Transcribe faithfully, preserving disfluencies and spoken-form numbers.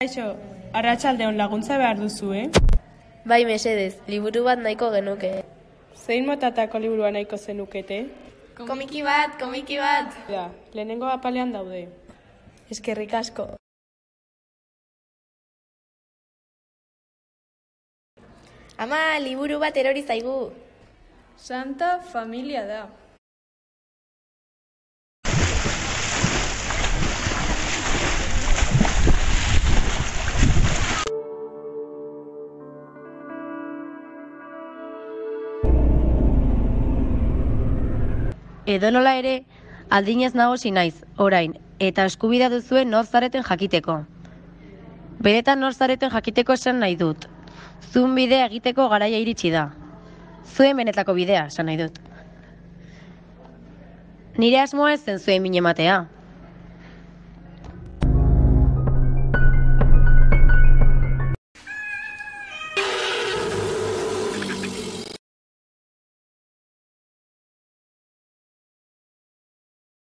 Kaixo, arratsaldeon laguntza behar duzu, eh? Bai, mesedez, liburu bat nahiko genuke. Zein motatako liburua nahiko zenukete? Komiki bat, komiki bat! Da, lehenengo apalean daude. Eskerrik asko. Ama, liburu bat erori zaigu. Santa familia da. Edonola ere, aldinez nagusi naiz, orain, eta eskubidea duzuen nor zareten jakiteko. Beretan nor zareten jakiteko esan nahi dut. Zuen bidea egiteko garaia iritsi da. Zuen benetako bidea, esan nahi dut. Nire asmoa ez zen zuen min ematea.